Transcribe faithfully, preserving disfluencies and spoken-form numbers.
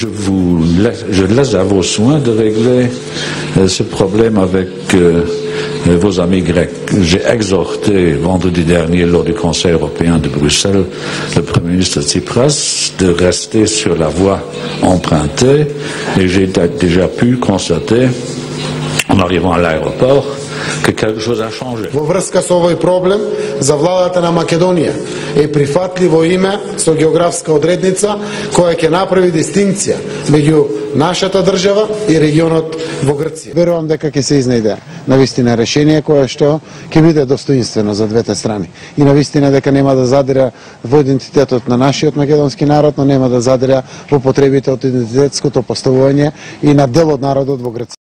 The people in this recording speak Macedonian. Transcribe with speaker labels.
Speaker 1: je, vous laisse, je laisse à vos soins de régler euh, ce problème avec euh, vos amis grecs. J'ai exhorté vendredi dernier lors du Conseil européen de Bruxelles le Premier ministre Tsipras de rester sur la voie empruntée et j'ai déjà pu constater en arrivant à l'aéroport que quelque chose a changé.
Speaker 2: Во врска со овој проблем, за владата на Македонија е прифатливо име со географска одредница која ќе направи дистинкција меѓу нашата држава и регионот во Грција. Верувам дека ќе се изнајде навистина решение кое што ќе биде достоинствено за двете страни и навистина дека нема да задира во идентитетот на нашиот македонски народ, но нема да задира во потребите од идентитетското поставување и на дел од народот во Грција.